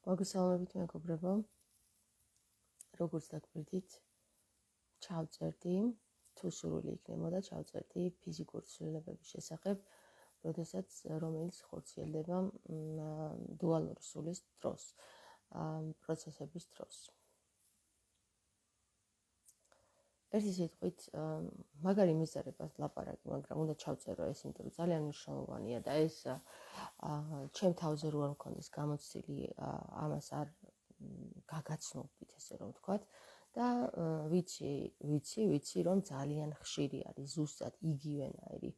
მოგესალმებით მეგობრებო, როგორც დაგვრდით, ჩავწერდი, თუ სურვილი იქნებოდა ჩავწერდი ფიზიკურ ცვლილებების შესახებ, რომელიც ხორციელდება დუალური სულის დროს, პროცესების დროს. ერთი სიტყვით, მაგარი მიზარებას ლაპარაკი, მაგრამ უნდა ჩავწერო ეს, იმიტომ რომ ძალიან მნიშვნელოვანია და ეს ჩემ თავზე რო არ მქონდეს გამოცდილი, ამას არ გაგაცნობდით, ესე რომ ვთქვათ, და ვიცი, რომ ძალიან ხშირი არის ზუსტად იგივენაირი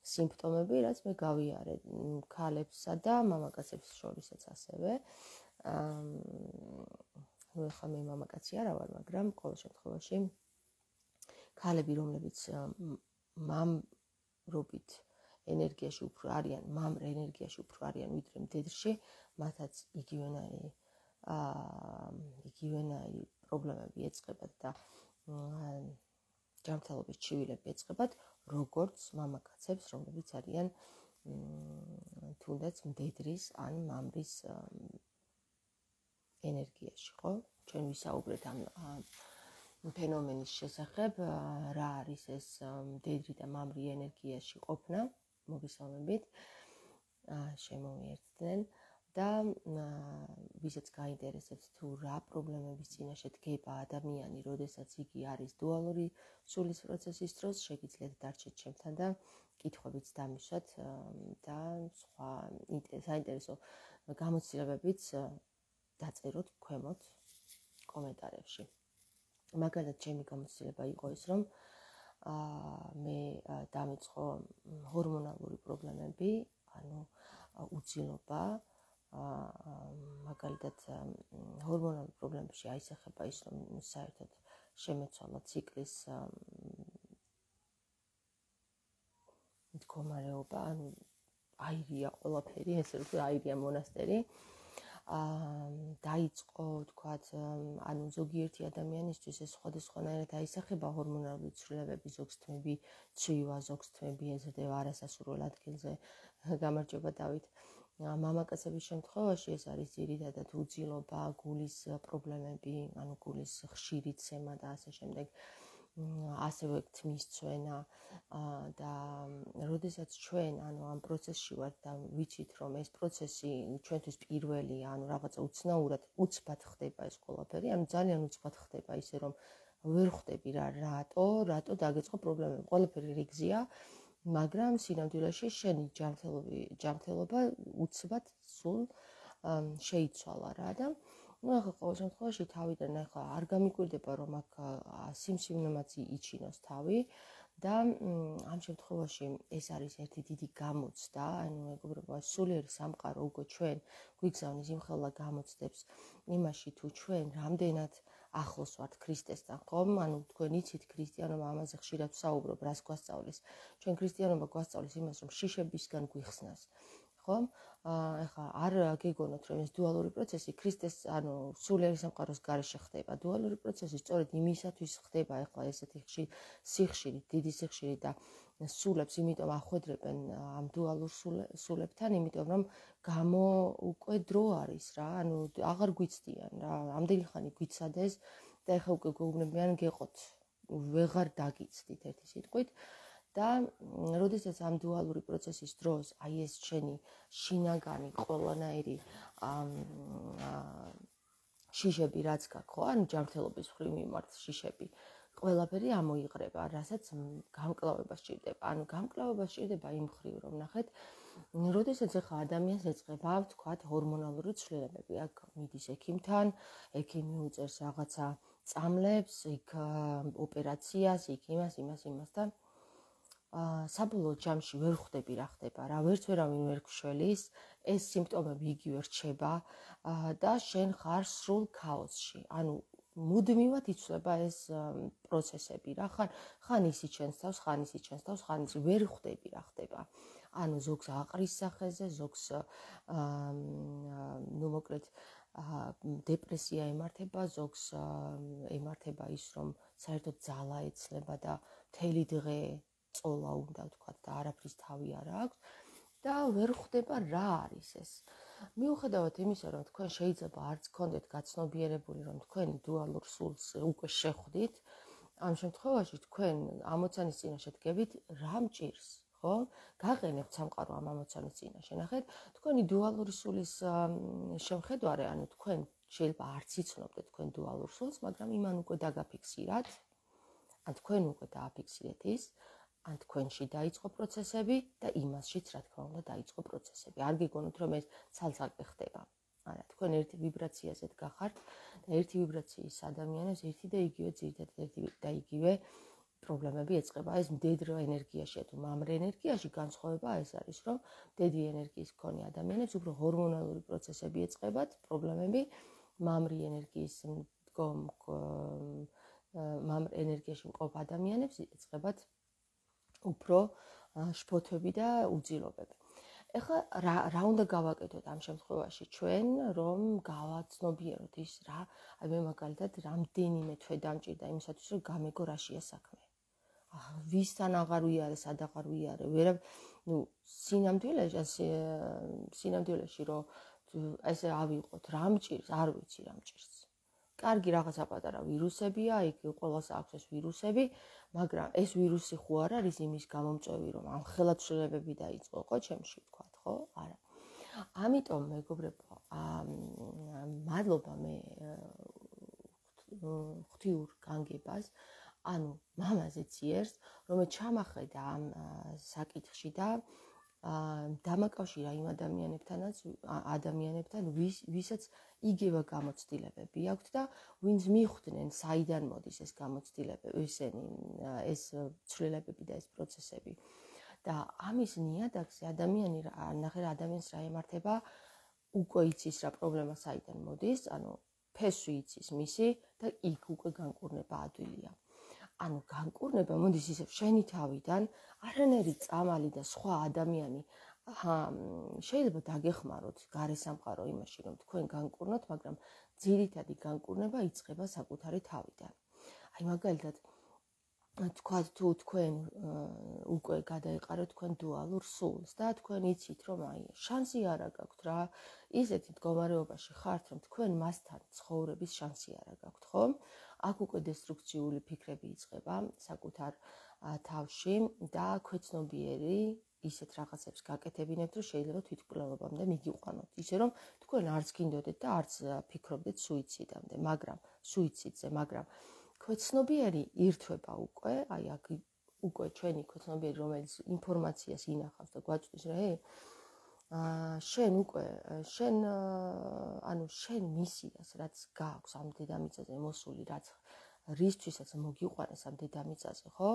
სიმპტომები, რაც მე გავიარე ქალებსა და მამაკაცებს შორისაც ასევე. ახლა მე მამაკაცი არა ვარ, მაგრამ ყოველ შემთხვევაში ქალები, რომლებიც მამრობით ენერგიაში უფრო არიან, მამრ ენერგიაში უფრო არიან ვიდრე მდედრში, მათაც იგივენაირი პრობლემები ეწყებათ და ჯანმრთელობის ჩივილები ეწყებათ, როგორც მამაკაცებს, რომლებიც არიან თუნდაც მდედრის ან მამრის ენერგიაში, ხო? ჩვენ ვისაუბრეთ ამ ფენომენის შესახებ, რა არის ეს მდედრი და მამრი ენერგიაში ყოფნა, მოგესალმებით, შემოვიერთდნენ და ვისაც გაინტერესებს თუ რა პრობლემების წინაშე დგება ადამიანი, როდესაც იგი არის დუალური სულის პროცესის დროს, შეგიძლიათ დარჩეთ ჩემთან და კითხვებიც დამისვათ და სხვა საინტერესო გამოცდილებებიც დაწეროთ ქვემოთ კომენტარებში. მაგალითად, ჩემი გამოცდილება იყო ის, რომ მე დამეწყო ჰორმონალური პრობლემები, ანუ უძილობა, მაგალითად, ჰორმონალურ პრობლემებში აისახება ის, რომ საერთოდ შემეცვალა ციკლის მდგომარეობა, ანუ აირია ყველაფერი, ესე რომ აირია მონასტერი. დაიწყო, ვთქვათ, ანუ ზოგიერთი ადამიანისთვის ეს სხვადასხვანაირად აისახება ჰორმონალური ცვლილებები, ზოგს თმები ცვივა, ზოგს თმები ეზრდება არასასურველ ადგილზე, გამარჯობა დავით. მამაკაცების შემთხვევაში ეს არის ძირითადად უძილობა, გულის პრობლემები, ანუ გულის ხშირი ცემა და ასე შემდეგ. ასევე თმის ცვენა და როდესაც ჩვენ ამ პროცესში ვართ და ვიცით, რომ ეს პროცესი ჩვენთვის პირველია, ანუ რაღაცა უცნაურად უცბად ხდება ეს ყველაფერი, ანუ ძალიან უცბად ხდება, ისე რომ ვერ ხვდები რატო დაგეწყო პრობლემები. ყველაფერი რიგზია, მაგრამ სინამდვილეში შენი ჯანმრთელობა უცბად სულ შეიცვალა რა და ახლა ყოველ შემთხვევაში თავიდან ახლა არ გამიკვირდება, რომ აქ სიმსივნემაც იჩინოს თავი და ამ შემთხვევაში ეს არის ერთი დიდი გამოცდა, ანუ მეგობრებო, სულიერი სამყარო უკვე ჩვენ გვიგზავნის იმხელა გამოცდებს იმაში, თუ ჩვენ რამდენად ახლოს ვართ ქრისტესთან, ხომ? ანუ თქვენ იცით ქრისტიანობა, ამაზე ხშირად ვსაუბრობ, რას გვასწავლის. ჩვენ ქრისტიანობა გვასწავლის იმას, რომ შიშებისგან გვიხსნას. ხომ? ახლა არ გეგონოთ, რომ ეს დუალური პროცესი ქრისტეს, ანუ სულიერი სამყაროს გარეშე ხდება. დუალური პროცესი სწორედ იმისათვის ხდება, ახლა ესეთი სიხშირი, დიდი სიხშირი და სულებს, იმიტომ ახვედრებენ ამ დუალურ სულებთან, იმიტომ რომ უკვე დრო არის რა, ანუ აღარ გვიცდიან რა, ამდენი ხანი გვიცადეს და ახლა უკვე გვეუბნებიან გეყოთ, ვეღარ დაგიცდით ერთი სიტყვით. და როდესაც ამ დუალური პროცესის დროს აი ეს შენი შინაგანი ყველანაირი შიშები რაც გაქვს, ხო, ანუ ჯანმრთელობის მხრივ მიმართ შიშები, ყველაფერი ამოიღრება, რასაც გამკლავება სჭირდება. ანუ გამკლავება სჭირდება იმ მხრივ, რომ ნახეთ, როდესაც ახლა ადამიანს ეწყება, ვთქვათ, ჰორმონალური ცვლილებები, აქ მიდის ექიმთან, ექიმი უწერს რაღაცა წამლებს, იქ ოპერაციას, იქ იმას და საბოლოო ჯამში ვერ ხვდები რა ხდება რა, ვერავინ ვერ გშველის, ეს სიმპტომები იგივე რჩება და შენ ხარ სრულ ქაოსში. ანუ მუდმივად იცვლება ეს პროცესები რა, ხან ისი ჩვენს თავს, ხან ვერ ხვდები რა ხდება. ანუ ზოგს აყრის სახეზე, ზოგს მოკლედ დეპრესია ემართება, ზოგს ემართება ის, რომ საერთოდ ძალა ეცლება და მთელი დღე წოლა უნდა ვთქვათ და არაფრის თავი არ აქვს და ვერ ხვდება რა არის ეს. მიუხედავად იმისა, რომ თქვენ შეიძლება არც გქონდეთ გაცნობიერებული, რომ თქვენი დუალურ სულს უკვე შეხვდით, ამ შემთხვევაში თქვენ ამოცანის წინაშე დგებით, რა მჭირს, ხო? გაყენებთ სამყარო ამ ამოცანის წინაშე. ნახეთ, თქვენი დუალური სულის შემხედვარე, ანუ თქვენ შეიძლება არც იცნობდეთ თქვენ დუალურ სულს, მაგრამ იმან უკვე დაგაფიქსირათ, ან თქვენ უკვე დააფიქსირეთ ის, ან თქვენში დაიწყო პროცესები და იმასშიც, რა თქმა უნდა, დაიწყო პროცესები. არ გიგონოთ, რომ ეს ცალ-ცალკე ხდება. არა, თქვენ ერთი ვიბრაციაზე დგახართ და ერთი ვიბრაციის ადამიანებს ერთი და იგივე ძირითადად ერთი და იგივე პრობლემები ეწყება. ეს მდედრო ენერგიაშია თუ მამრ ენერგიაში განსხვავება ეს არის, რომ მდედრი ენერგიის მქონე ადამიანებს უფრო ჰორმონალური პროცესები ეწყებათ, პრობლემები, მამრი ენერგიის მამრ ენერგიაში მყოფ ადამიანებს ეწყებათ უფრო შფოთვები და უძილობები. ეხლა რა უნდა გავაკეთოთ ამ შემთხვევაში ჩვენ, რომ გავაცნობიეროთ ის რა, აი მე მაგალითად რამდენიმე თვე დამჭირდა იმისათვის, რომ გამეგო რაშია საქმე. ვისთან აღარ ვიარე, სად აღარ ვიარე, ვერა, სინამდვილეში რომ ესე ავიღოთ, რა მჭირს, არ ვიცი რა მჭირს. კარგი რაღაცა პატარა ვირუსებია, იქ ყველას აქვს ეს ვირუსები, მაგრამ ეს ვირუსი ხო არ არის იმის გამომწვევი, რომ ამ ხელათშლებები დაიწყო, ხო, ჩემში ვთქვათ, ხო? არა. ამიტომ მეგობრებო, მადლობა მე ღვთიურ განგებას, ანუ მამაზე ძიერს, რომ ჩამახედა ამ საკითხში და დამაკავშირა იმ ადამიანებთან, ვისაც იგივე გამოცდილებები აქვთ და ვინც მიხვდნენ, საიდან მოდის ეს გამოცდილებები, ეს ცვლილებები და ეს პროცესები. და ამის ნიადაგზე ადამიანს რა ემართება, უკვე იცის რა პრობლემა საიდან მოდის, ანუ ფესვი იცის მისი და იქ უკვე განკურნება ადვილია. ანუ განკურნება მოდის ისევ შენი თავიდან, არანაირი წამალი და სხვა ადამიანი შეიძლება დაგეხმაროთ გარესამყარო იმაში, რომ თქვენ განკურნოთ, მაგრამ ძირითადი განკურნება იწყება საკუთარი თავიდან. აი მაგალითად თქვათ თუ თქვენ უკვე გადაიყარეთ თქვენ დუალურ სულს და თქვენ იცით, რომ აი შანსი არ გაქვთ რა, ისეთი მდგომარეობაში ხართ, რომ თქვენ მასთან ცხოვრების შანსი არ გაქვთ, ხო? აქ უკვე დესტრუქციული ფიქრები იწყება საკუთარ თავში და ქვეცნობიერი ისეთ რაღაცებს გაკეთებინებთ, რომ შეიძლება თვითმკვლელობამდე მიგიყვანოთ. ისე რომ თქვენ არც გინდოდეთ და არც ფიქრობდეთ სუიციდამდე, მაგრამ ქვეცნობიერი ირთვება უკვე, აი აქ უკვე ჩვენი ქვეცნობიერი, რომელიც ინფორმაციას ინახავს და გვაწვდის, შენ მისიას, რაც გააქვს ამ დედამიწაზე მოსული, რაც რისთვისაც მოგიყვანეს ამ დედამიწაზე, ხო?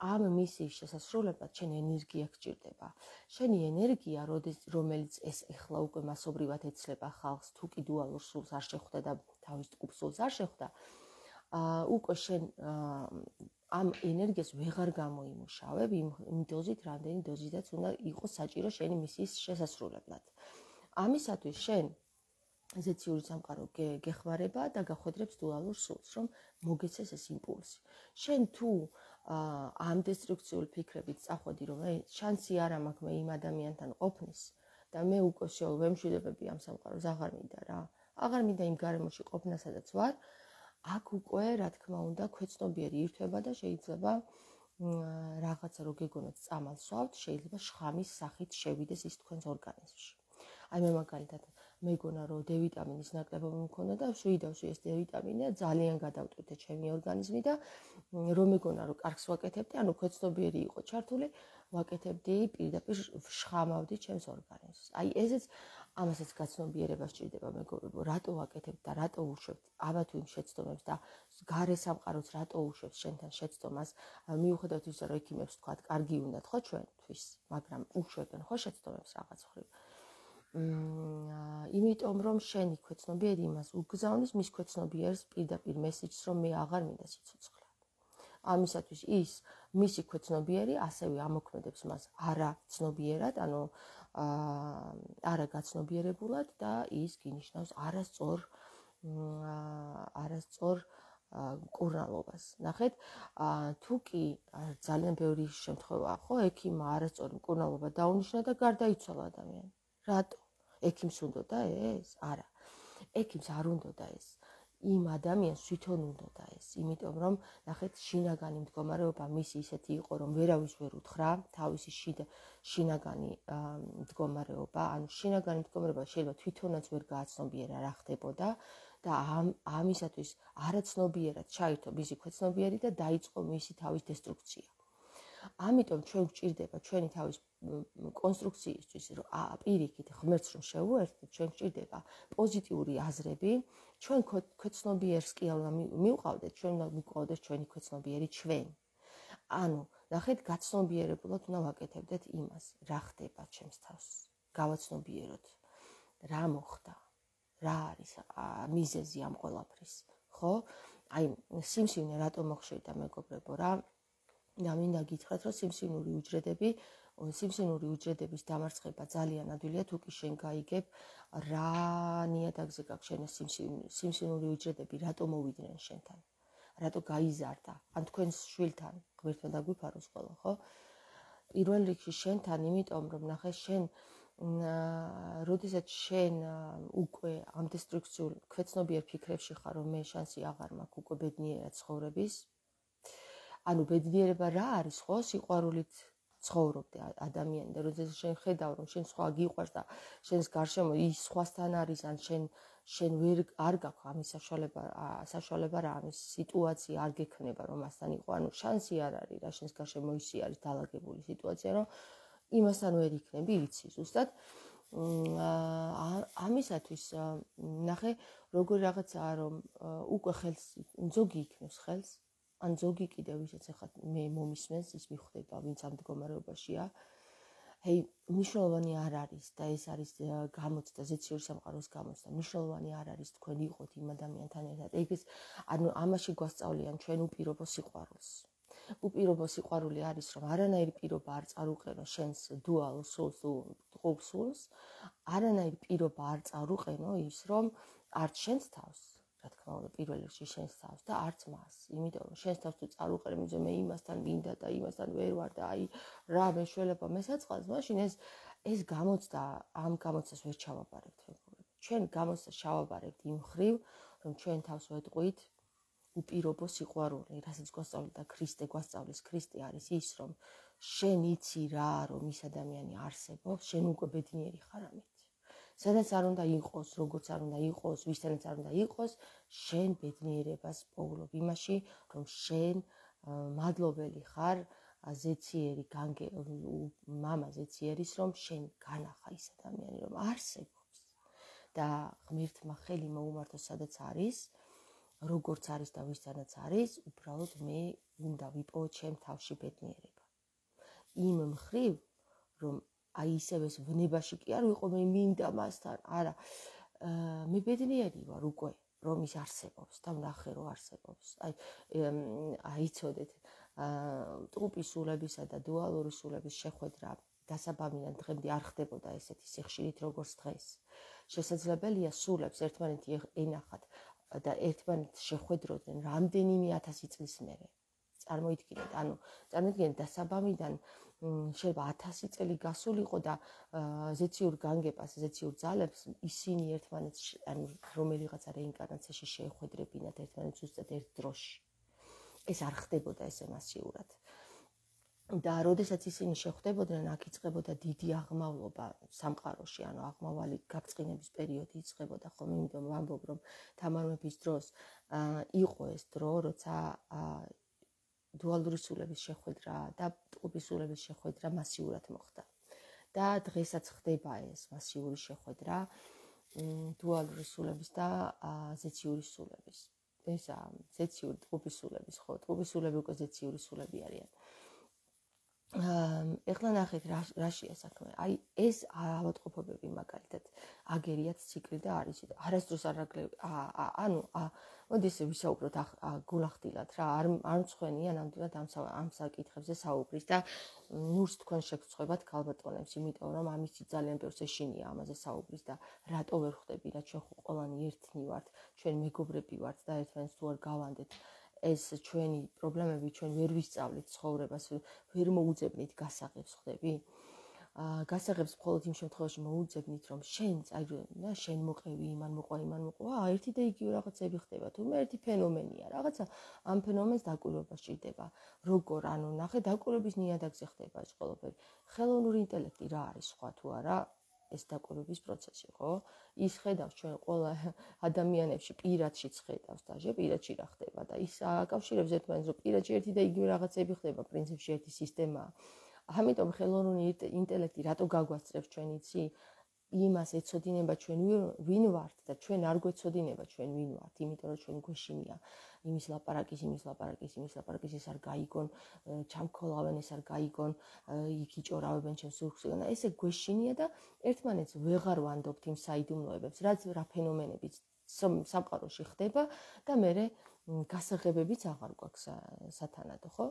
ამ მისიის შესასრულებლად შენ ენერგია გჭირდება. შენი ენერგია, რომელიც ეს ეხლა უკვე მასობრივად ეცლება ხალხს, თუ კი დუალურ სულს არ შეხვდა და თავის ტკუპ სულს არ შეხვდა, უკვე შენ ამ ენერგიას ვეღარ გამოიმუშავებ იმ დოზით, რამდენი დოზითაც უნდა იყოს საჭირო შენი მისიის შესასრულებლად. ამისათვის შენ ზეციური სამყარო გეხმარება და გახვედრებს დუალურ სულს, რომ მოგეცეს ეს იმპულსი. შენ თუ ამ დესტრუქციული ფიქრებით წახვედი, რომ შანსი არ მაქვს მე იმ ადამიანთან ყოფნის და მე უკვე ვემშვიდობები ამ სამყაროს, აღარ მინდა რა. აღარ მინდა იმ გარემოში ყოფნა, სადაც ვარ. აქ უკვე, რა თქმა უნდა, ქვეცნობიერი ირთვება და შეიძლება რაღაცა რო გეგონოთ წამალს ვავთ, შეიძლება შხამის სახით შევიდეს ის თქვენს ორგანიზმში. აი მე მაგალითად მეგონა რომ D ვიტამინის ნაკლებობა მქონდა და შვიდავში ეს D ვიტამინი ძალიან გადავტვირთე ჩემი ორგანიზმი და რომ მეგონა რომ კარგს ვაკეთებდი, ანუ ქვეცნობიერი იყო ჩართული, ვაკეთებდი პირდაპირ შხამავდი ჩემს ორგანიზმს. აი ესეც ამასაც გაცნობიერება სჭირდება მეგობრებო, რატო ვაკეთებთ და რატო უშვებთ აბა თუ იმ შეცდომებს და გარე სამყაროც რატო უშვებს შენთან შეცდომას, მიუხედავად ისა რომ ექიმებს თქვათ, კარგი უნდათ ხო ჩვენთვის, მაგრამ უშვებენ ხო შეცდომებს რაღაც ხრივ. იმიტომ რომ შენი ქვეცნობიერი იმას უგზავნის მის ქვეცნობიერს პირდაპირ მესიჯს, რომ მე აღარ მინდა სიცოცხლე. ამისათვის ის მისი ქვეცნობიერი ასევე ამოქმედებს მას არაცნობიერად, ანუ არა გაცნობიერებულად და ის გინიშნავს არასწორ მკურნალობას. ნახეთ, თუ კი ძალიან ბევრი შემთხვევაა, ხო, ექიმმა არასწორი მკურნალობა დაუნიშნა და გარდაიცვალა ადამიანი. რატო? ექიმს უნდოდა ეს? არა. ექიმს არ უნდოდა ეს. იმ ადამიანს თვითონ უნდოდა ეს, იმიტომ რომ ნახეთ შინაგანი მდგომარეობა მისი ისეთი იყო, რომ ვერავის ვერ უთხრა თავისი შინაგანი მდგომარეობა, ანუ შინაგანი მდგომარეობა შეიძლება თვითონაც ვერ გააცნობიერა რა ხდებოდა და ამისათვის არაცნობიერად ჩაირთო მისი ქვეცნობიერი და დაიწყო მისი თავის დესტრუქცია. ამიტომ ჩვენ გვჭირდება ჩვენი თავის კონსტრუქციისთვის, რომ პირიქით ღმერთს რომ შევუერთდეთ, ჩვენ გვჭირდება პოზიტიური აზრები, ჩვენ ქვეცნობიერს კი არ მივყავდეთ, ჩვენ უნდა მივყავდეს ჩვენი ქვეცნობიერი ჩვენ. ანუ, ნახეთ, გაცნობიერებულად უნდა ვაკეთებდეთ იმას, რა ხდება ჩემს თავს. გავაცნობიეროთ, რა მოხდა, რა არის მიზეზი ამ ყველაფრის, ხო? აი, სიმსივნე რატომ მოხშირდა მეგობრებო რა? და მინდა გითხრათ, რომ სიმსივნური უჯრედების დამარცხება ძალიან ადვილია, თუ კი შენ გაიგებ რა ნიადაგზე გაქვს შენ სიმსივნური უჯრედები, რატო მოვიდნენ შენთან, რატო გაიზარდა, ან თქვენს შვილთან, ღმერთმა დაგვიფაროს ყველა, ხო? პირველ რიგში შენთან, იმიტომ რომ ნახე შენ როდესაც შენ უკვე ამ დესტრუქციულ ქვეცნობიერ ფიქრებში ხარ, რომ მე შანსი აღარ მაქვს უკვე ბედნიერად ცხოვრების, ანუ ბედნიერება რა არის, ხო? სიყვარულით ცხოვრობდე ადამიანი და როდესაც შენ ხედავ, რომ შენ სხვა გიყვარს და შენს გარშემო ის სხვასთან არის, ან შენ ვერ არ გაქვს ამის საშუალება რა, ამის სიტუაცია არ გექნება, რომ მასთან იყო, ანუ შანსი არ არის რა, შენს გარშემო ისი არის დაალაგებული სიტუაცია, რომ იმასთან ვერ იქნები, იცი ზუსტად. ამისათვის ნახე, როგორი რაღაცაა, რომ უკვე ხელს ზოგი იქნებს ხელს, ან ზოგი კიდევ ვისაც ახლა მე მომისმენს, ის მიხვდება, ვინც ამ მდგომარეობაშია. ჰეი, მნიშვნელოვანი არ არის და ეს არის გამოცდა, ზეციური სამყაროს გამოცდა. მნიშვნელოვანი არ არის თქვენ იყოთ იმ ადამიანთან ერთად. ეგ ანუ ამაში გვასწავლიან ჩვენ უპირობო სიყვარულს. უპირობო სიყვარული არის, რომ არანაირი პირობა არ წარუყენო შენს dual souls, არანაირი პირობა არ წარუყენო ის, რომ არც შენს თავს, რა თქმა უნდა, პირველ რიგში შენს თავს და არც მას. იმიტომ რომ შენს თავს თუ წარუყენებ, მე იმასთან მინდა და იმასთან ვერ ვარ და აი რა მეშველება მესაწყალს, მაშინ ეს გამოცდა, ამ გამოცდას ვერ ჩავაბარებთ მეგობრებო. ჩვენ გამოცდას ჩავაბარებთ იმ ხრივ, რომ ჩვენ თავს ვეტყვით უპირობო სიყვარული, რასაც გვასწავლიდა ქრისტე, გვასწავლის ქრისტე არის ის, რომ შენ იცი რა, რომ ის ადამიანი არსებობს, შენ უკვე ბედნიერი ხარ ამით. სადაც არ უნდა იყოს, როგორც არ უნდა იყოს, ვისთანაც არ უნდა იყოს, შენ ბედნიერებას პოულობ იმაში, რომ შენ მადლობელი ხარ ზეციერი მამა ზეციერის, რომ შენ განახა ის ადამიანი, რომ არსებობს და ღმერთმა ხელი მოუმართოს, სადაც არის, როგორც არის და ვისთანაც არის, უბრალოდ მე უნდა ვიპოვო ჩემ თავში ბედნიერება. იმ მხრივ, რომ აი ისევ ეს ვნებაში კი არ ვიყო, მე მინდა მასთან, არა, მე ბედნიერი ვარ უკვე, რომ ის არსებობს და ვნახე, რომ არსებობს. აი იცოდეთ, ტყუპის სულებისა და დუალური სულების შეხვედრა დასაბამიდან დღემდე არ ხდებოდა ესეთი სიხშირით, როგორც დღეს. შესაძლებელია სულებს ერთმანეთი ენახათ და ერთმანეთს შეხვედროდნენ რამდენიმე 1000 წლის მერე. წარმოიდგინეთ, დასაბამიდან შეიძლება 1000 წელი გასულიყო და ზეციურ განგებას, ზეციურ ძალებს ისინი ერთმანეთს, ანუ რომელიღაცა რეინკარნაციაში შეეხვედრებინათ ერთმანეთს ზუსტად ერთ დროში. ეს არ ხდებოდა ესე მასიურად. და როდესაც ისინი შეხვდებოდნენ, აქ იწყებოდა დიდი აღმავლობა სამყაროში, ანუ აღმავალი გაბრწყინების პერიოდი იწყებოდა, ხოლმე იმიტომ ვამბობ, რომ თამარ მეფის დროს იყო ეს დრო, როცა დუალური სულების შეხვედრა და ტყუპის სულების შეხვედრა მასიურად მოხდა. და დღესაც ხდება ეს მასიური შეხვედრა დუალური სულების და ზეციური სულების. ესა ზეციური ტყუპის სულების, ხო, ტყუპის სულები უკვე ზეციური სულები არიან. ეხლა ნახეთ რაშია საქმე. აი ეს ავადმყოფობები მაგალითად აგერიათ ციკლი და არის არასდროს არ ანუ მოდი ესე ვისაუბროთ გულახდილად რა, არ მწვენია ნამდვილად ამ საკითხებზე საუბრის და ნურს თქვენ შეგწყვებათ ქალბატონებს, იმიტომ რომ ამისი ძალიან ბევრს ეშინია ამაზე საუბრის და რატო ვერ ხვდები რა, ჩვენ ხო ყველანი ერთნი ვართ, ჩვენ მეგობრები ვართ და ერთმანეთს თუ არ გავანდეთ ეს ჩვენი პრობლემები ჩვენ ვერ ვისწავლით ცხოვრებას, ვერ მოუძებნით გასაღებს, ხდები? გასაღებს მხოლოდ იმ შემთხვევაში მოუძებნით, რომ შენ მოყევი, იმან მოყვა, ერთი და იგივე რაღაცები ხდება, თუმცა ერთი ფენომენია, რაღაცა ამ ფენომენს დაკვირვება სჭირდება. როგორ, ნახე, დაკვირვების ნიადაგზე ხდება ეს ყველაფერი. ხელოვნური ინტელექტი რა არის სხვა თუ არა? ეს დაკვირვების პროცესი, ხო? ის ხედავს ჩვენ ყველა ადამიანებში პირადშიც ხედავს და პირადში რა ხდება და ის აკავშირებს ერთმანეთს, რომ პირადში ერთი და იგივე რაღაცები ხდება, პრინციპში ერთი სისტემაა. ამიტომ ხელოვნური ინტელექტი რატო გაგვასწრებს ჩვენ იცი? იმას ეცოდინება ჩვენ ვინ ვართ და ჩვენ არ გვეცოდინება ჩვენ ვინ ვართ, იმიტომ რომ ჩვენ გვეშინია იმის ლაპარაკის, ის არ გაიგონ, ჩამქოლავენ, ეს არ გაიგონ, იქ იჭორავებენ ჩემს სურხსიდან. ესე გვეშინია და ერთმანეთს ვეღარ ვანდობთ იმ საიდუმლოებებს, რაც რა ფენომენებიც სამყაროში ხდება და მე გასაღებებიც აღარ გვაქვს სათანადო, ხო?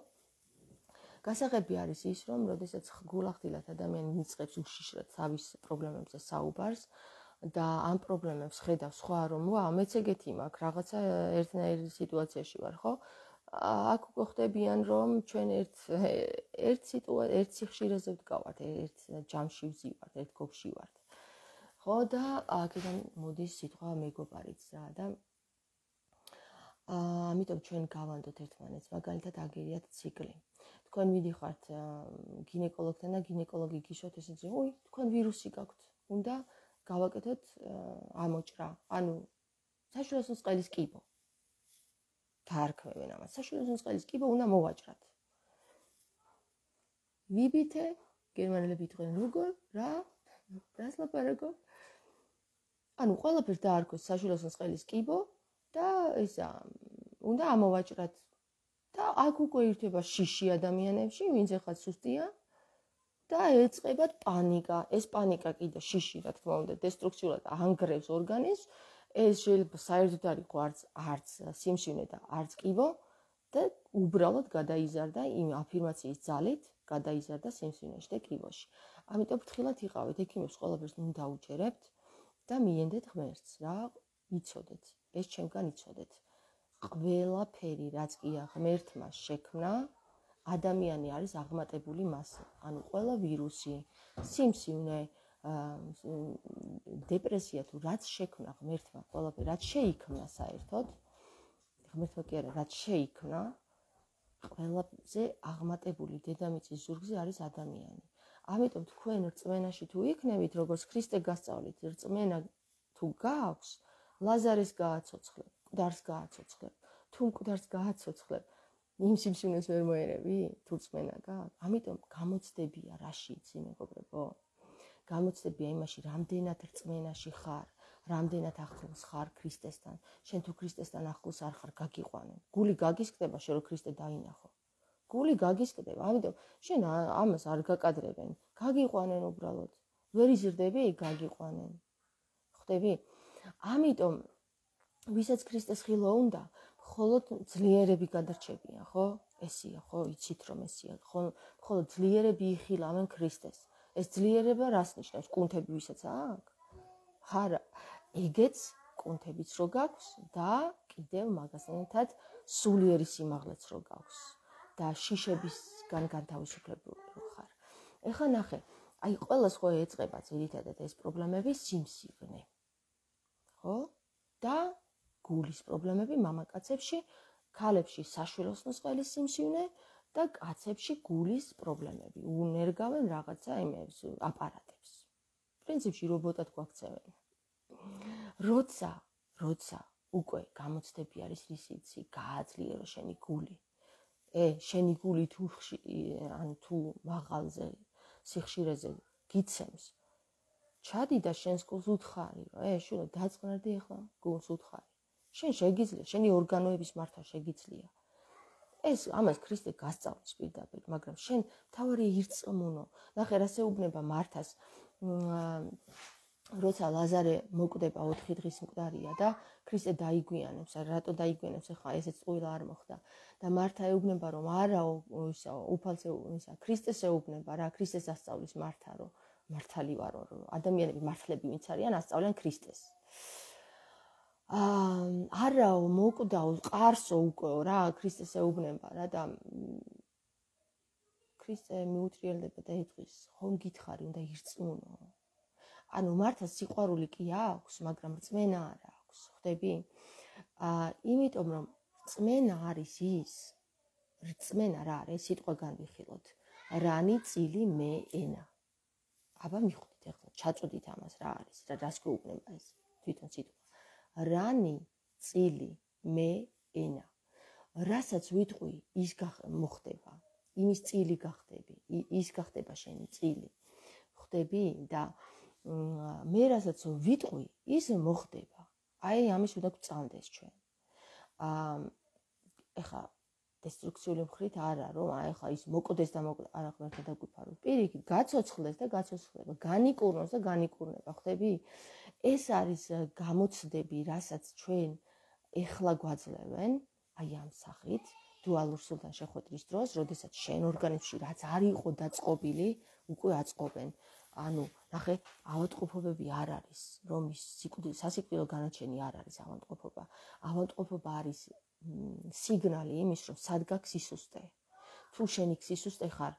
გასაღები არის ის, რომ როდესაც გულახდილად ადამიანი მიწყებს უშიშრად თავის პრობლემებზე საუბარს და ამ პრობლემებს ხედავს სხვა, რომ მეც ეგეთი მაქვს, რაღაცა ერთნაირ სიტუაციაში ვარ, ხო? აქ უკვე ხდებიან, რომ ჩვენ ერთ სიხშირეზე ვდგავართ, ერთ ჯამში ვზივართ, ერთ გოგში ვართ. ხო და აქედან მოდის სიტყვა მეგობარიც რა და ამიტომ ჩვენ გავანდოთ ერთმანეთს, მაგალითად აგერიათ ციკლი. თქვენ მიდიხართ გინეკოლოგთან და გინეკოლოგი გიშოთ ესეც, თქვენ ვირუსი გაქვთ, უნდა გავაკეთოთ ამოჭრა, საშვილოსნო წყლის კიბო. დაარქმევენ ამას, საშვილოსნო წყლის კიბო უნდა მოვაჭრათ. ვიბითე, გერმანელები იტყვიან როგორ, რას ლაპარაკო? ყველაფერს დაარქვეს საშვილოსნო წყლის კიბო და უნდა ამოვაჭრათ. და აქ უკვე ირთვება შიში ადამიანებში, ვინც ეხლა სუსტია და ეწყებათ პანიკა. ეს პანიკა კიდე შიში, რა თქმა უნდა, დესტრუქციულად ანგრევს ორგანიზმს. ეს შეიძლება საერთოდ არ იყოს არც სიმსივნე და არც კიბო და უბრალოდ გადაიზარდა იმ აფირმაციის ძალით, გადაიზარდა სიმსივნეში და კიბოში. ამიტომ ფრთხილად იყავით, ექიმებს ყველაფერს ნუ დაუჯერებთ და მიენდეთ ღმერთს, რა, იცოდეთ. ეს ჩემგან იცოდეთ. ყველაფერი, რაც კი ღმერთმა შექმნა, ადამიანი არის აღმატებული მასა. ყველა ვირუსი, სიმსივნე, დეპრესია თუ რაც შექმნა ღმერთმა, ყველაფერი რაც შეიქმნა საერთოდ, ღმერთმა კი არა, რაც შეიქმნა, ყველაფერზე აღმატებული დედამიწის ზურგზე არის ადამიანი. ამიტომ თქვენ რწმენაში თუ იქნებით, როგორც ქრისტე გასწავლით, რწმენა თუ გააქვს, ლაზარეს გააცოცხლებ, მკვდარს გააცოცხლებ. თუ მკვდარს გააცოცხლებ, იმ სიმსივნეს ვერ მოერევი, თუ რწმენა გააქვს. ამიტომ გამოცდებია რაში იცი, მეგობრებო? გამოცდებია იმაში, რამდენად რწმენაში ხარ, რამდენად ახლოს ხარ ქრისტესთან. შენ თუ ქრისტესთან ახლოს არ ხარ, გაგიყვანენ. გული გაგისკდება, შენ რო ქრისტე დაინახო. გული გაგისკდება, ამიტომ შენ ამას არ გაკადრებენ. გაგიყვანენ უბრალოდ. ვერ იზრდები, გაგიყვანენ. ხვდები? ამიტომ ვისაც ქრისტეს ხილვა უნდა, მხოლოდ ძლიერები გადარჩებიან, ხო? ესია, ხო, იცით რომ ესია, მხოლოდ ძლიერები იხილავენ ქრისტეს. ეს ძლიერება რას ნიშნავს? კუნთები ვისაც აქვს? არა, ეგეც კუნთებიც რო გაქვს და კიდევ მაგასთან სულიერი სიმაღლეც რო გაქვს და შიშებისგან განთავისუფლებული რო ხარ. ეხლა ნახე, ყველას ხო ეწყება ძირითადად ეს პრობლემები სიმსივნე. ხო? და გულის პრობლემები მამაკაცებში, ქალებში საშვილოსნო წყლის სიმსივნე და კაცებში გულის პრობლემები. უნერგავენ რაღაცა იმებს, აპარატებს. პრინციპში რობოტად გვაქცევენ. როცა უკვე გამოცდები არის რისიც, გააძლიერო შენი გული. შენი გული თუ მაღალზე, სიხშირეზე გიცემს. ჩადი და შენს გულს უთხარი, რომ შვილო დაწყნარდი ახლა გულს უთხარი. შენ შეგიძლია, შენი ორგანოების მართავ შეგიძლია. ამას ქრისტე გასწავლის პირდაპირ, მაგრამ შენ თავარი ირწმუნო. ნახე, რა შეუბნება მართას, როცა ლაზარე მოკვდება 4 დღის მკვდარია და ქრისტე დაიგვიანებს, რატო დაიგვიანებს, ახლა ესეც ყველა არ მოხდა. და მართა ეუბნება, რომ არა, უფალს ქრისტეს ეუბნება რა, ქრისტეს ასწავლის მართა, რომ მართალი ვარო, რომ ადამიანები მართლები ვინც არიან, ასწავლიან ქრისტეს. არა, მოკვდაო, ყარსო უკვე რა, ქრისტეს ეუბნება რა და ქრისტე მიუტრიალდება და ეტყვის, ხომ გითხარი, უნდა ირწმუნო. ანუ მართლა სიყვარული კი აქვს, მაგრამ რწმენა არ აქვს, ხვდები? იმიტომ რომ რწმენა არის ის, რწმენა რა არის, სიტყვა განვიხილოთ. რანი, წილი, მე, ენა. აბა მიხვდით ახლა, ჩაწოდით ამას რა არის, რას გვეუბნება ეს თვითონ სიტყვა. რანი, წილი, მე, ენა. რასაც ვიტყვი, ის მოხდება. იმის წილი გახდები, ის გახდება შენი წილი. ხვდები? და მე რასაც ვიტყვი, ის მოხდება. აი ამის უნდა გვწამდეს ჩვენ. ეხლა დესტრუქციული მხრით არა, რომ ეხლა ის მოკვდეს და არა ღმერთი დაგვიფაროს. პირიქით, გაცოცხლდეს და გაცოცხლდება, განიკურნოს და განიკურნება, ხვდები? ეს არის გამოცდები, რასაც ჩვენ ეხლა გვაძლევენ, აი ამ სახით, დუალურ სულთან შეხვედრის დროს, როდესაც შენ ორგანიზმში რაც არ იყო დაწყობილი, უკვე აწყობენ. ანუ, ნახე, ავადმყოფობები არ არის, რომ ის სასიკვდილო განაჩენი არ არის ავადმყოფობა. ავადმყოფობა არის სიგნალი იმის, რომ სად გაქვს სისუსტე. თუ შენი სისუსტე ხარ,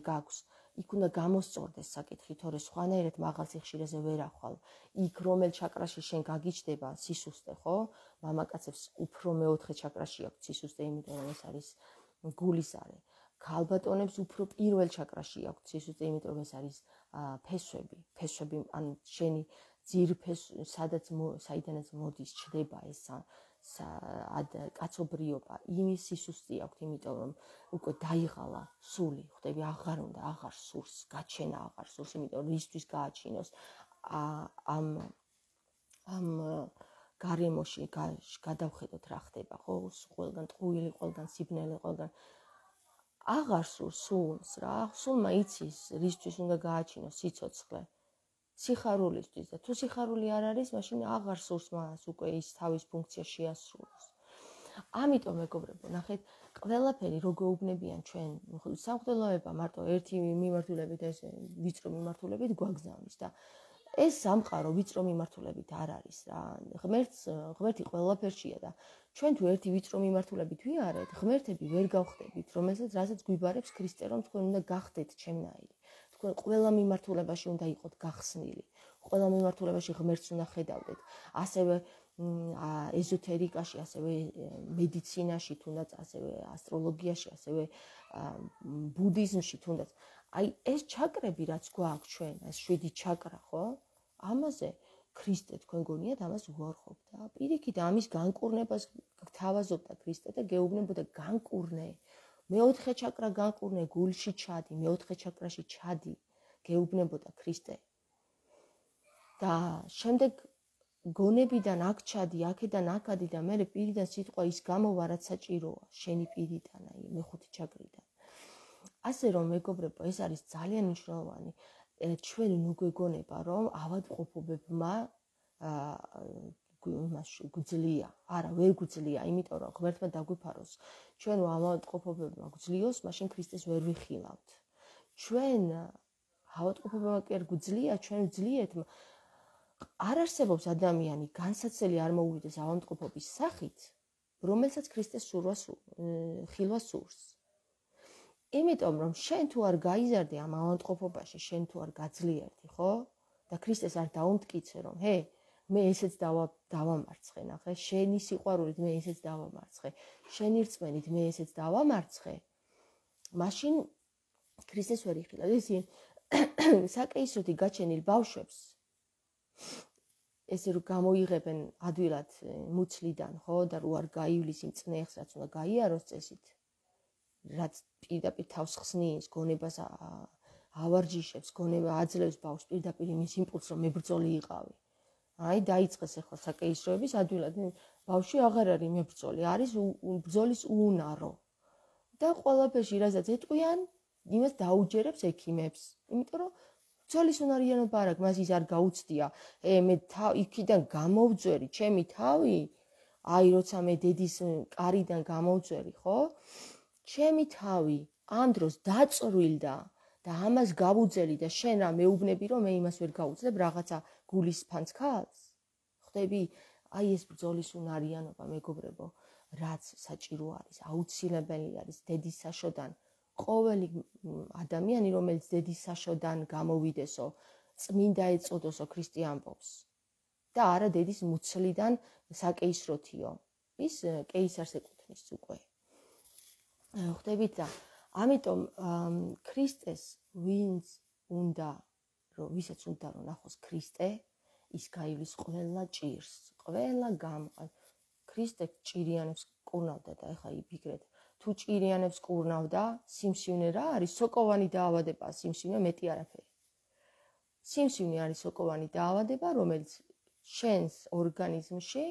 გაქვს, იქ უნდა გამოსწორდეს საკითხი, თორე სხვანაირად მაღალ სიხშირეზე ვერ ახვალ. იქ რომელ ჩაკრაში შენ გაგიჩნდება სისუსტე, ხო? მამაკაცებს უფრო მეოთხე ჩაკრაში აქვს სისუსტე, იმიტომ რომ ეს არის გულის არე. ქალბატონებს უფრო პირველ ჩაკრაში აქვს სისუსტე, იმიტომ რომ ეს არის ფესვები. ფესვები, ან შენი ძირფეს, საიდანაც მოდის ჩდება ეს კაცობრიობა, იმის სისუსტე აქვს, იმიტომ რომ უკვე დაიღალა სული, ხვდები, აღარ უნდა, აღარ სურს, გაჩენა აღარ სურს, იმიტომ რომ რისთვის გააჩინოს ამ გარემოში გადავხედოთ რა ხდება, ხო? ყველგან ტყუილი, ყველგან სიბნელე, ყველგან აღარ სურს რა, სულმა იცის რისთვის უნდა გააჩინოს სიცოცხლე. სიხარულისთვის და თუ სიხარული არ არის, მაშინ აღარ სურს მას უკვე ის თავის ფუნქცია შეასრულოს. ამიტომ მეგობრებო, ნახეთ, ყველაფერი რო გვეუბნებიან ჩვენ, სამღვდელოება მარტო ერთი მიმართულებით, ეს ვიწრო მიმართულებით გვაგზავნის და ეს სამყარო ვიწრო მიმართულებით არ არის რა. ღმერთი ყველაფერშია და ჩვენ თუ ერთი ვიწრო მიმართულებით ვიარეთ, ღმერთები ვერ გავხდებით, რასაც გვიბარებს ქრისტე, რომ თქვენ უნდა გახდეთ ჩემნაირი. თქვენ ყველა მიმართულებაში უნდა იყოთ გახსნილი. ყველა მიმართულებაში ღმერთს უნდა ხედავდეთ. ასევე ეზოთერიკაში, ასევე მედიცინაში, თუნდაც ასევე ასტროლოგიაში, ასევე ბუდიზმში, თუნდაც. აი ეს ჩაკრები რაც გვაქვს ჩვენ, ეს 7 ჩაკრა, ხო? ამაზე ქრისტე თქვენ გონიათ ამას უარყოფ და პირიქით ამის განკურნებას გთავაზობდა ქრისტე და გეუბნებოდა განკურნე. მეოთხე ჩაკრა განკურნე, გულში ჩადი, მეოთხე ჩაკრაში ჩადი, გეუბნებოდა ქრისტე. და შემდეგ გონებიდან აქ ჩადი, აქედან აქადი და მე პირიდან სიტყვა ის გამოვა რაც საჭიროა, შენი პირიდან, აი მეხუთე ჩაკრიდან. ასე რომ მეგობრებო, ეს არის ძალიან მნიშვნელოვანი. ჩვენ ნუგვეგონება, რომ ავადმყოფობებმა გვძლია, არა, ვერ გვძლია, იმიტომ რომ ღმერთმა დაგვიფაროს. ჩვენ ავადმყოფობებმა გვძლიოს, მაშინ ქრისტეს ვერ ვიხილავთ. ჩვენ ავადმყოფობებმა კი არ გვძლია, ჩვენ ვძლიეთ. არ არსებობს ადამიანი, განსაცდელი არ მოუვიდეს ავადმყოფობის სახით, რომელსაც ქრისტეს ხილვა სურს. იმიტომ რომ შენ თუ არ გაიზარდე ამ ავადმყოფობაში, შენ თუ არ გაძლიერდი, ხო? და ქრისტეს არ დაუმტკიცე, რომ ჰე, მე ესეც დავამარცხე, ნახე, შენი სიყვარულით მე ესეც დავამარცხე, შენი რწმენით მე ესეც დავამარცხე, მაშინ ქრისტეს ვერ იხილავ. ისინი საკეისროთი გაჩენილ ბავშვებს ესე რომ გამოიღებენ ადვილად მუცლიდან, ხო, და რო არ გაივლის იმ წნეხს, რაც უნდა გაიაროს წესით, რაც პირდაპირ თავს ხსნის, გონებას ავარჯიშებს, გონება აძლევს ბავშვს პირდაპირ იმის იმპულსს, რომ მებრძოლი იყავი. აი დაიწყეს ახლა საკეისროების ადვილად, ბავშვი აღარ არის მებრძოლი, არის ბრძოლის უუნარო. და ყველაფერში რასაც ეტყვიან, იმას დაუჯერებს ექიმებს, იმიტომ რომ ბრძოლის უნარიანობა არ აქვს, მას ის არ გაუცდია. მე იქიდან გამოვძვერი ჩემი თავი, აი როცა მე დედის კარიდან გამოვძვერი, ხო? ჩემი თავი ამ დროს დაწრვილდა და ამას გავუძელი და შენ რა მეუბნები, რომ მე იმას ვერ გაუძლებ რაღაცა გულის ფანცქალს? ხვდები? აი ეს ბრძოლის უნარიანობა, მეგობრებო, რაც საჭირო არის, აუცილებელი არის დედის საშოდან ყოველი ადამიანი, რომელიც დედის საშოდან გამოვიდესო, წმინდა ეწოდოსო ქრისტიანობს და არა დედის მუცლიდან საკეისროთიო, ის კეისარს ეკუთვნის უკვე. ხვდებით და ამიტომ ქრისტეს ვისაც უნდა რომ ნახოს ქრისტე, ის გაივლის ყველა ჭირს, ყველა გამყარს. ქრისტე ჭირიანებს კურნავდა და ეხლა იფიქრეთ, თუ ჭირიანებს კურნავდა, სიმსივნე რა არის? სოკოვანი დაავადება, სიმსივნე მეტი არაფერი. სიმსივნე არის სოკოვანი დაავადება, რომელიც შენს ორგანიზმში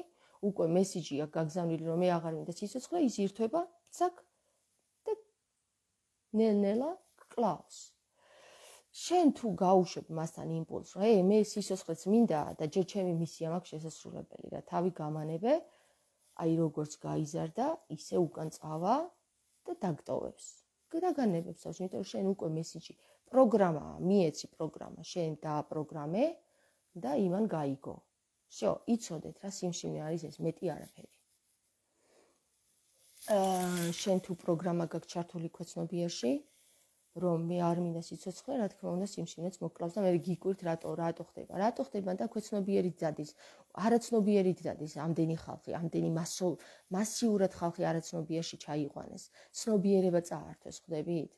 უკვე მესიჯია გაგზავნილი, რომ მე აღარ მინდა სიცოცხლე, ის ირთვება, ცაკ და ნელ-ნელა კლავს. შენ თუ გაუშვებ მასთან იმპულსს, რომ მე სიცოცხლეც მინდა და ჯერ ჩემი მისია მაქვს შესასრულებელი, რა თავი გამანებე, აი როგორც გაიზარდა, ისე უკან წავა და დაგტოვებს. დაგანებებს, იმიტომ რომ შენ უკვე მესიჯი პროგრამაა, მიეცი პროგრამა, შენ დააპროგრამე და იმან გაიგო. всё, იცოდეთ რა სიმსივნე არის ეს, მეტი არაფერი. შენ თუ პროგრამა გაქვს ჩართული ქვეცნობიერში, რომ მე არ მინდა სიცოცხლე, რა თქმა უნდა, სიმსივნეც მოკლავს და მე გიკვირთ რატო ხდება. რატო ხდება და ქვეცნობიერით დადის, არაცნობიერით დადის ამდენი ხალხი, ამდენი მასიურად ხალხი არაცნობიერში ჩაიყვანეს. ცნობიერება წაართვეს, ხვდებით?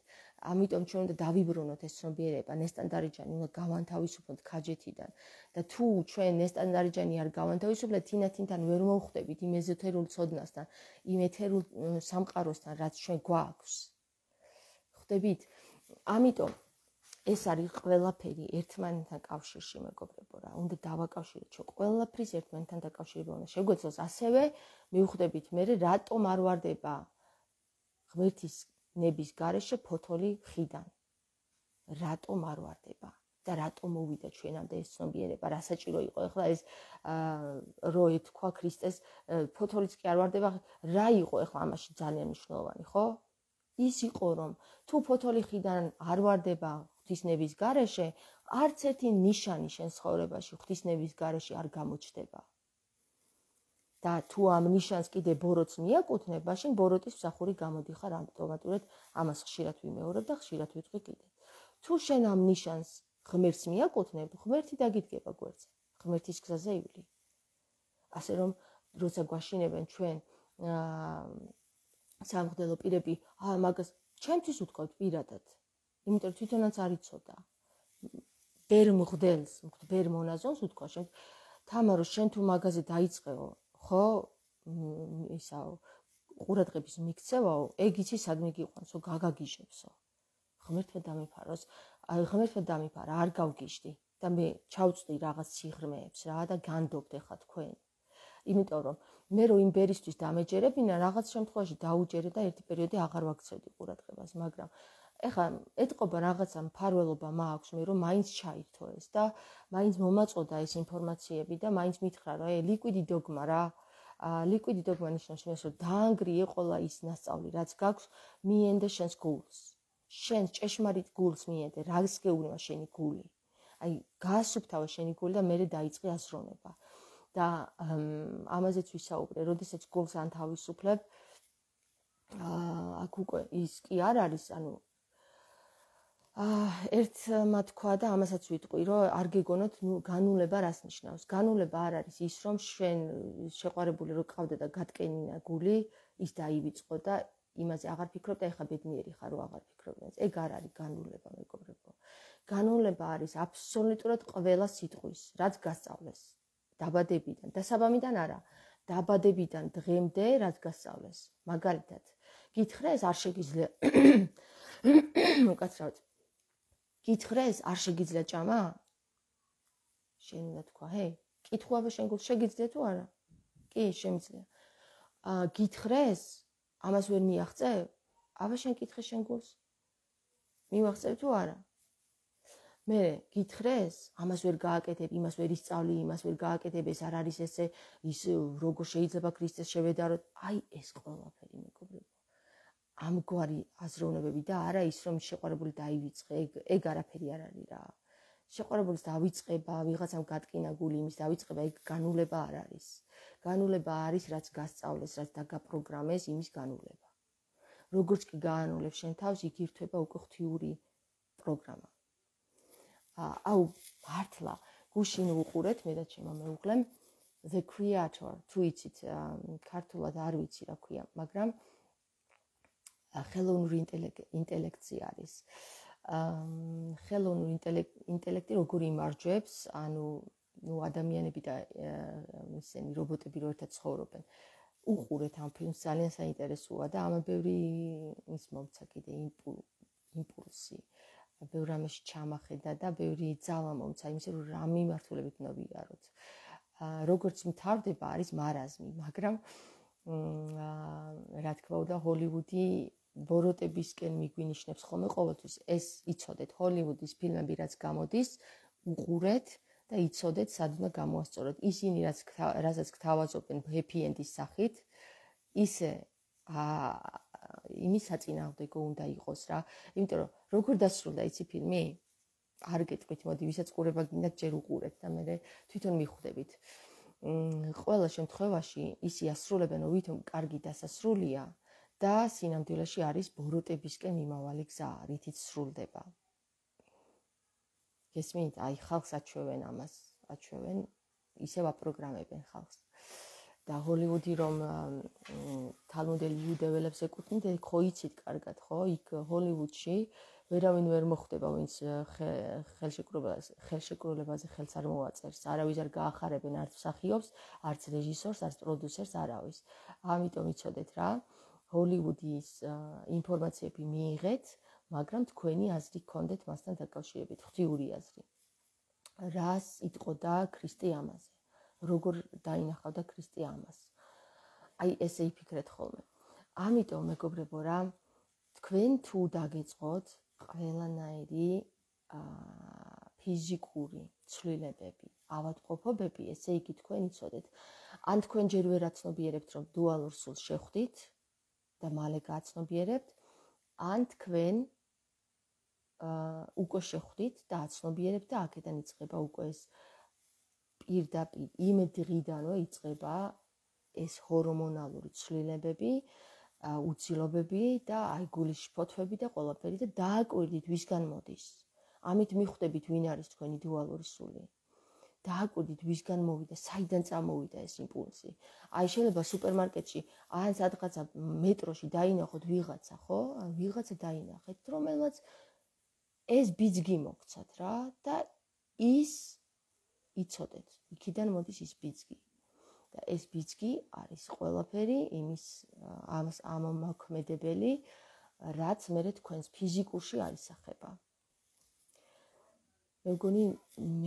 ამიტომ ჩვენ უნდა დავიბრუნოთ ეს ცნობიერება, ნესტანდარიჯანი უნდა გავანთავისუფლოთ ქაჯეთიდან და თუ ჩვენ ნესტანდარიჯანი არ გავანთავისუფლეთ, თინათინთან ვერ მოვხვდებით იმ ეზოთერულ ცოდნასთან, იმ ეთერულ სამყაროსთან, რაც ჩვენ გვაქვს. ხვდებით? ამიტომ ეს არის ყველაფერი ერთმანეთთან კავშირში, მეგობრებო რა. უნდა დავაკავშიროთ ჩვენ ყველაფრის ერთმანეთთან დაკავშირება უნდა შეგვეცოს. ასევე მივხვდებით მე რატომ არ ვარდება ღმერთის ნების გარეშე ფოთოლი ხიდან. რატომ არ ვარდება და რატომ მოვიდა ჩვენამდე ეს ცნობიერება, რა საჭირო იყო ეხლა ეს რო ეთქვა ქრისტეს ფოთოლიც კი არ ვარდება, რა იყო ეხლა ამაში ძალიან მნიშვნელოვანი, ხო? ის იყო რომ თუ ფოთოლი ხიდან არ ვარდება ღვთისნების გარეშე, არც ერთი ნიშანი შენ ცხოვრებაში ღვთისნების გარეშე არ გამოჩნდება. და თუ ამ ნიშანს კიდე ბოროტს მიაკუთვნებ, მაშინ ბოროტის მსახური გამოდიხარ ავტომატურად, ამას ხშირად ვიმეორებ და ხშირად ვიტყვი კიდე. თუ შენ ამ ნიშანს ღმერთს მიაკუთვნებ, ღმერთი დაგიდგება გვერდზე, ღმერთის გზაზე ივლი. ასე რომ, როცა გვაშინებენ ჩვენ სამღვდელო პირები, მაგას ჩემთვის უთქვათ პირადად, იმიტომ რომ თვითონაც არ იცოდა. ბერ მღვდელს, ბერ მონაზონს უთქვა შენ, თამარო, შენ თუ მაგაზე დაიწყეო, ხო, ისაო, ყურადღების მიქცევაო, ეგ იცი სადმე გიყვანსო, გაგაგიჟებსო. ღმერთმა დამიფაროს, ღმერთმა დამიფარა, არ გავგიჟდი და მე ჩავწვდი რაღაც სიღრმეებს რა და განდობთ ეხლა თქვენ. იმიტომ რომ მე რო იმ ბერისთვის დამეჯერებინა, რაღაც შემთხვევაში დაუჯერე და ერთი პერიოდი აღარ ვაქცევდი ყურადღებას, მაგრამ ეხლა ეთყობა რაღაცა მფარველობა მაქვს მე რომ მაინც ჩაირთო ეს და მაინც მომაწოდა ეს ინფორმაციები და მაინც მითხრა რომ ლიკვიდი დოგმა რა. ლიკვიდი დოგმა ნიშნავს იმას, რომ დაანგრიე ყველა ის ნასწავლი, რაც გაქვს, მიენდე შენს გულს. შენს ჭეშმარიტ გულს მიენდე, რას გეუბნება შენი გული. აი, გაასუფთავე შენი გული და მერე დაიწყე აზროვნება. და ამაზეც ვისაუბრე, როდესაც გულს ანთავისუფლებ, აქ უკვე ის კი არ არის, ანუ ერთმა თქვა და ამასაც ვიტყვი, რომ არ გეგონოთ, განულება რას ნიშნავს. განულება არ არის ის, რომ შენ შეყვარებული რო ყავდა და გატკენინა გული, ის დაივიწყო და იმაზე აღარ ფიქრობ და ეხლა ბედნიერი ხარ, რომ აღარ ფიქრობ. ეგ არ არის განულება, მეგობრებო. განულება არის აბსოლუტურად ყველა სიტყვის, რაც გასწავლეს. დაბადებიდან, დასაბამიდან არა, დაბადებიდან დღემდე რაც გასწავლეს. მაგალითად, გითხრეს არ შეგიძლია უკაცრავად. გითხრეს არ შეგიძლია ჭამა? შენ უნდა თქვა, ჰე, კითხულობა შენ გულს შეგიძლია თუ არა? კი, შემიძლია. გითხრეს ამას ვერ მიაღწევ? აბა შენ კითხე შენ გულს. მივაღწევ თუ არა? მე გითხრეს, ამას ვერ გააკეთებ, იმას ვერ ისწავლი, იმას ვერ გააკეთებ, ეს არ არის ესე, ის როგორ შეიძლება ქრისტეს შევედაროთ? აი ეს ყველაფერი, მეგობრებო. ამგვარი აზროვნებები და არა ის, რომ შეყვარებული დაივიწყე, ეგ არაფერი არ არის რა. შეყვარებულის დავიწყება, ვიღაცამ გატკინა გული, იმის დავიწყება, ეგ განულება არ არის. განულება არის, რაც გასწავლეს, რაც დაგაპროგრამეს, იმის განულება. როგორც კი გაანულებ შენ თავს, იგი ირთვება უკვე ღვთიური პროგრამა. აუ მართლა გუშინ უყურეთ მე და ჩემმა მეუღლემ The Creator, თუ იცით, ქართულად არ ვიცი რა ქვია, მაგრამ ხელოვნური ინტელექტი არის. ხელოვნური ინტელექტი როგორ იმარჯვებს, ანუ ადამიანები და ისინი რობოტები რო ერთად ცხოვრობენ. უყურეთ ამ ფილმს, ძალიან საინტერესოა და ამან ბევრი ის მომცა კიდე იმპულსი. ბევრ რამეში ჩამახედა და ბევრი ძალა მომცა იმისე რომ რა მიმართულებით უნდა ვიაროთ. როგორც მთავრდება არის მარაზმი, მაგრამ რა თქმა უნდა ჰოლივუდი ბოროტებისკენ მიგვინიშნებს ხოლმე ყოველთვის. ეს იცოდეთ ჰოლივუდის ფილმები რაც გამოდის, უყურეთ და იცოდეთ სად უნდა გამოასწოროთ. ისინი რასაც გთავაზობენ happy end-ის სახით, ისე იმის საწინააღმდეგო უნდა იყოს რა. იმიტომ რომ როგორ დასრულდა იცი ფილმი? არ გეტყვით, მოდი, ვისაც ყურება გინდათ, ჯერ უყურეთ და მე თვითონ მიხვდებით. ყველა შემთხვევაში ისი ასრულებენ, რომ ვითომ კარგი დასასრულია და სინამდვილეში არის ბოროტებისკენ მიმავალი გზა, რითიც სრულდება. გესმით? აი ხალხს აჩვევენ ამას, აჩვევენ, ისევ აპროგრამებენ ხალხს. და ჰოლივუდი რომ თალმუდელი იუდეველებს ეკუთვნით, ხო იცით კარგად, ხო? იქ ჰოლივუდში ვერავინ ვერ მოხვდება, ვინც ხელშეკრულებაზე ხელს არ მოვაწერს. არავის არ გაახარებენ არც მსახიობს, არც რეჟისორს, არც პროდიუსერს, არავის. ამიტომ იცოდეთ რა, ჰოლივუდის ინფორმაციები მიიღეთ, მაგრამ თქვენი აზრი გქონდეთ მასთან დაკავშირებით, ღვთიური აზრი. რას იტყოდა ქრისტე ამაზე? როგორ დაინახავდა ქრისტე ამას? აი ესე იფიქრეთ ხოლმე. ამიტომ მეგობრებო რა, თქვენ თუ დაგეწყოთ ყველანაირი ფიზიკური ცვლილებები, ავადმყოფობები, ესე იგი თქვენ იცოდეთ. ან თქვენ ჯერ ვერ აცნობიერებთ, რომ დუალურ სულს შეხვდით და მალე გააცნობიერებთ, ან თქვენ უკვე შეხვდით და აცნობიერებთ და აქედან იწყება უკვე ეს პირდაპირ იმ დღიდანვე იწყება ეს ჰორმონალური ცვლილებები, უცილობები და აი გულის შფოთვები და ყველაფერი და დააკვირდით ვისგან მოდის. ამით მიხვდებით ვინ არის თქვენი დუალური სული. დააკვირდით ვისგან მოვიდა, საიდან წამოვიდა ეს იმპულსი. აი შეიძლება სუპერმარკეტში ან სადღაცა მეტროში დაინახოთ ვიღაცა, ხო? ვიღაცა დაინახეთ, რომელმაც ეს ბიძგი მოგცათ რა და ის იცოდეთ, იქიდან მოდის ის ბიძგი. და ეს ბიძგი არის ყველაფერი იმის ამომაქმედებელი, რაც მე თქვენს ფიზიკურში არისახება. მე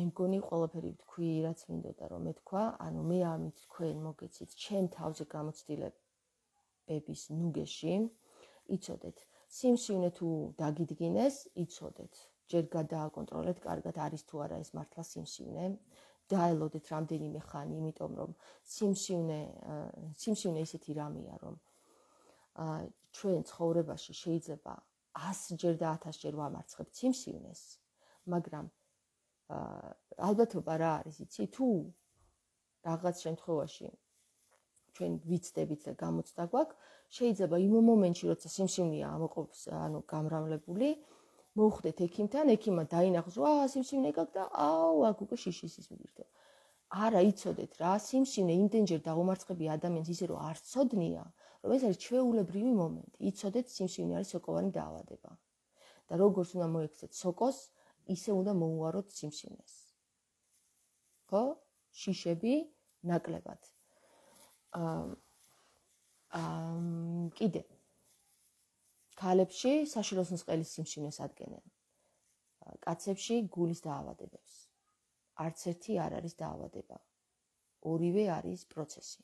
მგონი ყველაფერი თქვი, რაც მინდოდა რომ მეთქვა, ანუ მე ამით თქვენ მოგეცით ჩემ თავზე გამოცდილებების ნუგეში, იცოდეთ, სიმსივნე თუ დაგიდგინეს, იცოდეთ, ჯერ გადააკონტროლეთ კარგად არის თუ არა ეს მართლა სიმსივნე. დაელოდეთ რამდენიმე ხანი, იმიტომ რომ სიმსივნე ისეთი რამეა, რომ ჩვენ ცხოვრებაში შეიძლება 100 ჯერ და 1000 ჯერ ვამარცხებთ სიმსივნეს, მაგრამ ალბათობა რა არის, იცი, თუ რაღაც შემთხვევაში ჩვენ ვიცდებით და გამოცდა გვაქვს, შეიძლება იმ მომენტში, როცა სიმსივნეა ამოყოფს, ანუ გამრავლებული, მოვხვდეთ ექიმთან, ექიმმა დაინახოს, სიმსივნე გაქვს და აქ უკვე შიშის ის მიდირთო. არა, იცოდეთ რა, სიმსივნე იმდენჯერ დაუმარცხებია ადამიანს ისე რომ არ ცოდნია, რომ ეს არის ჩვეულებრივი მომენტი. იცოდეთ, სიმსივნე არის სოკოვანი დაავადება. და როგორც უნდა მოექცეთ სოკოს, ისე უნდა მოუაროთ სიმსივნეს. ხო? შიშები ნაკლებად. კიდე ქალებში საშილოს ნწყელის სიმსივნეს ადგენენ. კაცებში გულის დაავადებებს. არც ერთი არ არის დაავადება. ორივე არის პროცესი.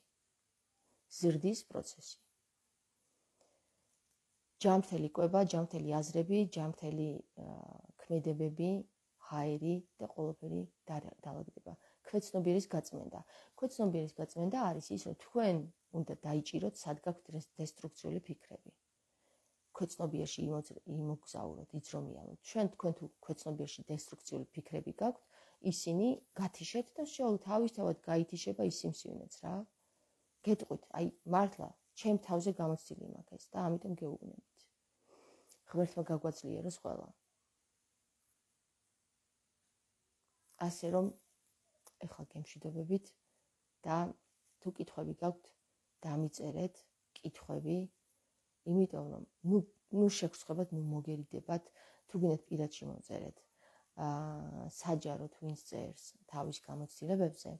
ზრდის პროცესი. ჯანმრთელი კვება, ჯანმრთელი აზრები, ჯანმრთელი ქმედებები, ჰაერი და ყველაფერი დაალაგდება. ქვეცნობიერის გაწმენდა. ქვეცნობიერის გაწმენდა არის ის, რომ თქვენ უნდა დაიჭიროთ, სად გაქვთ დესტრუქციული ფიქრები. ქვეცნობიერში იმოგზაუროთ, იწრომიალოთ. თქვენ თუ ქვეცნობიერში დესტრუქციული ფიქრები გაქვთ, ისინი გათიშეთ და თავისთავად გაითიშება ის სიმსივნეც რა. გეტყვით, აი მართლა ჩემ თავზე გამოცდილი მაქვს ეს და ამიტომ გეუბნებით. ღმერთმა გაგვაძლიეროს ყველა. ასე რომ ეხლა გემშვიდობებით და თუ კითხვები გაქვთ, დამიწერეთ კითხვები, იმიტომ რომ ნუ შეგხვდებათ, ნუ მოგერიდებათ, თუ გინდათ პირად შემოწერეთ. საჯაროდ ვინც წერს თავის გამოცდილებებზე,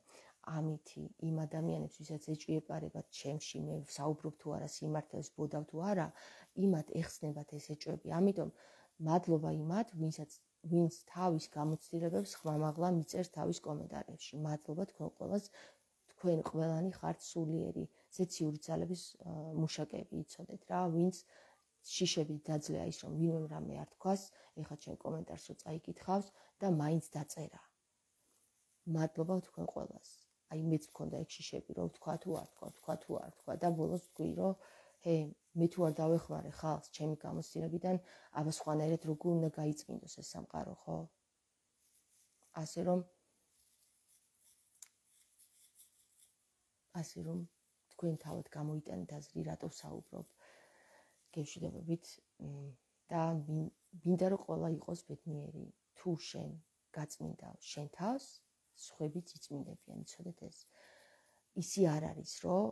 ამითი იმ ადამიანებს, ვისაც ეჭვიებარებათ ჩემში, მე ვსაუბრობ თუ არა სიმართლეს, ბოდავ თუ არა, იმათ ეხსნებათ ეს ეჭვები. ამიტომ მადლობა იმათ, ვინც თავის გამოცდილებებს ხმამაღლა მიწერს თავის კომენტარებში. მადლობა თქვენ ყველას, თქვენ ყველანი ხართ სულიერი, ზეციური ძალების მუშაკები, იცოდეთ რა, ვინც შიშები დაძლეა ის, რომ ვინმე რამე არ თქვას, ეხლა ჩემ კომენტარს რო წაიკითხავს და მაინც დაწერა. მადლობა თქვენ ყველას. აი მეც მქონდა ეგ შიშები, რომ თქვა თუ არ თქვა და ბოლოს ვთქვი, რომ მე თუ არ დავეხმარე ხალხს ჩემი გამოცდილებიდან, აბა სხვანაირად როგორ უნდა გაიწმინდოს ეს სამყარო, ხო? ასე რომ თქვენ თავად გამოიტანეთ აზრი, რატო ვსაუბრობ. გემშვიდობებით და მინდა რომ ყველა იყოს ბედნიერი. თუ შენ გაწმინდავ შენ თავს, სხვებიც იწმინდებიან, იცოდეთ ეს. ისი არ არის, რომ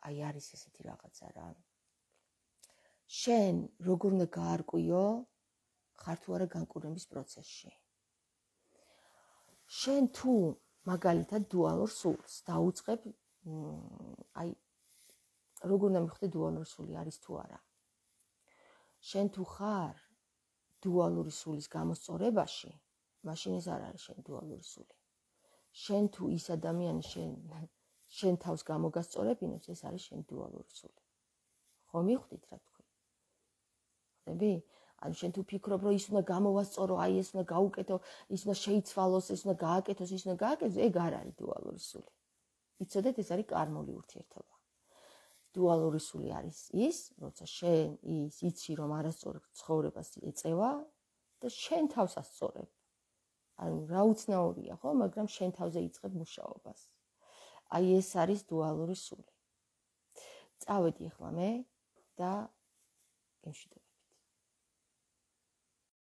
აი არის ესეთი რაღაცა რა. შენ როგორ უნდა გაარკვიო, ხარ თუ არა განკურნების პროცესში. შენ თუ მაგალითად დუალურ სულს დაუწყებ, აი როგორ უნდა მიხვდე დუალური სული არის თუ არა. შენ თუ ხარ დუალური სულის გამოსწორებაში, მაშინ ეს არ არის შენ დუალური სული. შენ თუ ის ადამიანი შენ თავს გამოგასწორებინებს, ეს არის შენ დუალური სული. ხო მიხვდით რა თქვი? ხდები? ანუ შენ თუ ფიქრობ, რომ ის უნდა გამოვასწორო, აი ეს უნდა გაუკეთო, ის უნდა შეიცვალოს, ეს უნდა გააკეთოს, ის უნდა გააკეთოს, ეგ არ არის დუალური სული. იცოდეთ, ეს არის კარმული ურთიერთობა. დუალური სული არის ის, როცა შენ იცი, რომ არასწორ ცხოვრებას ეწევა და შენ თავს ასწორებ. ანუ რა უცნაურია, ხო, მაგრამ შენ თავზე იწყებ მუშაობას. აი ეს არის დუალური სული. წავედი ახლა მე და გემშვიდობებით.